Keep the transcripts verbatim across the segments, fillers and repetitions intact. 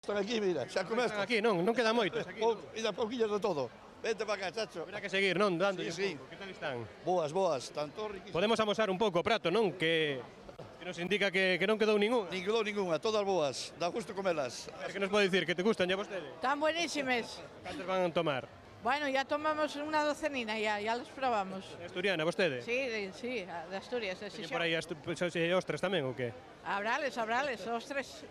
Están aquí, mira, xa comeste. Están aquí, non, non queda moitos aquí. Pou, e da pouquillas de todo. Vente para cá, chacho. Habrá que seguir, non, dando Sí, un sí. pouco. Que tal están? Boas, boas, tanto riquísimas. Podemos amosar un pouco o prato, non? Que, que nos indica que, que non quedou ningún. Nin quedou ninguna, todas boas, dá gusto comelas. A ver, que nos pode dicir? Que te gustan ya vostede? Están buenísimas. Cantos van a tomar? Bueno, ya tomamos una docenina, ya, ya las probamos. Asturiana, vostede? Sí, de, sí, de Asturias, de Teñen Xixón. por aí as ostras tamén ou que? Abrales, abrales, ostras.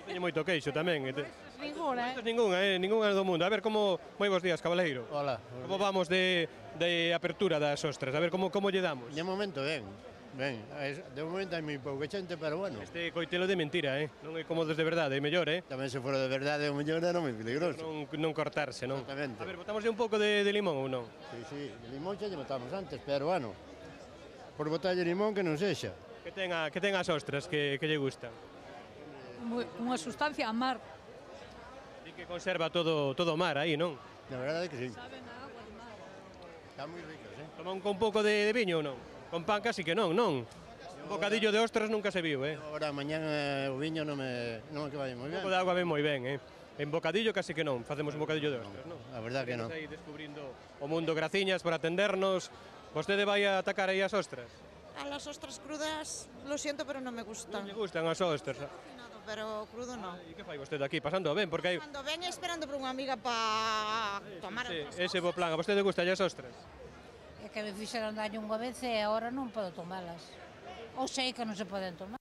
Teñen moito queixo tamén. E te... Ninguna, Moitos eh? ninguna, eh, ninguna do mundo. A ver, como... Moi bons días, cabaleiro. Hola. Como vamos de, de apertura das ostras? A ver, como, como lle damos? De momento, ben. Ben, es- de momento hai moi pouca xente, pero bueno. Este coitelo de mentira, eh? Non é como dos de verdade, é mellor, eh? Tamén se fora de verdade, o mellor era moi peligroso. Non, non cortarse, non? Exactamente. A ver, botamos un pouco de, de limón ou non? Sí, sí, de limón xa lle botamos antes, pero bueno, por botalle limón que non sexa. Que ten, a, que ten as ostras que, que lle gustan? Muy- Unha sustancia a mar. Di que conserva todo todo o mar aí, non? Na verdade que sí. Saben a agua do mar. Está moi ricos, eh? Toma un, con un pouco de, de viño ou non? Con pan casi que non, non? Un bocadillo de ostras nunca se viu, eh? Agora, mañán eh, o viño non me, non me que vai moi Un ben. pouco de agua ven moi ben, eh? En bocadillo casi que non, facemos un bocadillo de ostras, non? A verdade que non. Estamos aí descubrindo o mundo, graciñas por atendernos. Vostede vai a atacar aí as ostras? A las ostras crudas, lo siento, pero no me Non gustan. lle gustan as ostras? Cocinado, pero crudo no. E que fai vostede aquí, pasando ben? Porque hai... Cuando ven esperando por unha amiga para tomar Ese, outras ese bo plan, a vostede gusta as ostras? É que me fixeron daño unha vez e agora non podo tomalas. Ou sei que non se poden tomar.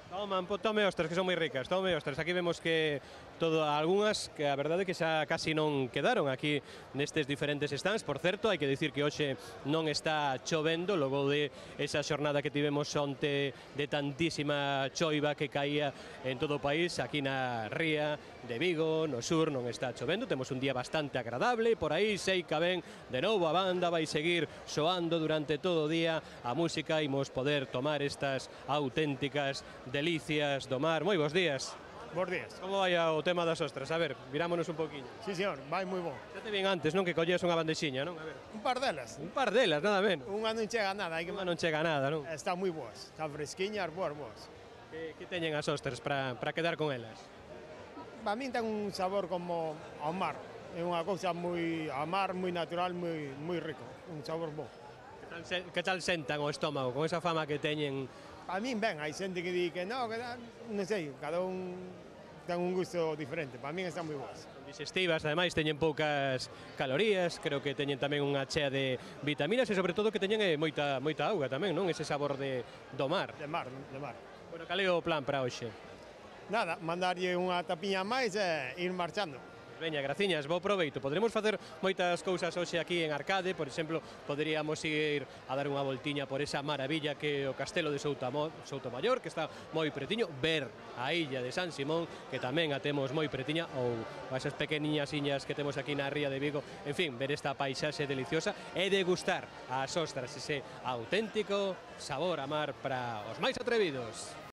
Toman, po- tome ostras, que son moi ricas, tome ostras. Aquí vemos que todo algunhas que a verdade é que xa casi non quedaron aquí nestes diferentes stands. Por certo, hai que dicir que hoxe non está chovendo, logo de esa xornada que tivemos onte de tantísima choiva que caía en todo o país, aquí na ría de Vigo, no sur, non está chovendo, temos un día bastante agradable, por aí sei que ven de novo a banda, vai seguir soando durante todo o día a música, imos poder tomar estas auténticas delicias do mar. Moi bons días. Bos días. Como vai o tema das ostras? A ver, virámonos un poquinho. Sí, señor, vai moi bon. Xa te vin antes, non? Que colles unha bandexiña, non? A ver. Un par delas. Un par delas, nada menos. Unha non chega a nada, hai que Unha non chega a nada, non? Está moi boas, está fresquiñas, boas, boas. Que, que teñen as ostras para para quedar con elas? Para min ten un sabor como ao mar. É unha cousa moi ao mar, moi natural, moi moi rico, un sabor bo. Que tal, se, que tal sentan o estómago con esa fama que teñen? Para min ben, hai xente que di que no, que da- non sei, cada un ten un gusto diferente. Para min están moi boas. Digestivas, ademais teñen poucas calorías, creo que teñen tamén unha chea de vitaminas e sobre todo que teñen eh, moita moita auga tamén, non? Ese sabor de do mar. De mar, de mar. Bueno, cal é o plan para hoxe? Nada, mandarlle unha tapiña máis e ir marchando. Veña, graciñas, bo proveito. Poderemos facer moitas cousas hoxe aquí en Arcade, por exemplo, poderíamos ir a dar unha voltiña por esa maravilla que é o castelo de Soutamo, Soutomaior, que está moi pretiño, ver a illa de San Simón, que tamén a temos moi pretiña, ou esas pequeniñas iñas que temos aquí na ría de Vigo, en fin, ver esta paisaxe deliciosa e degustar as ostras, ese auténtico sabor a mar para os máis atrevidos.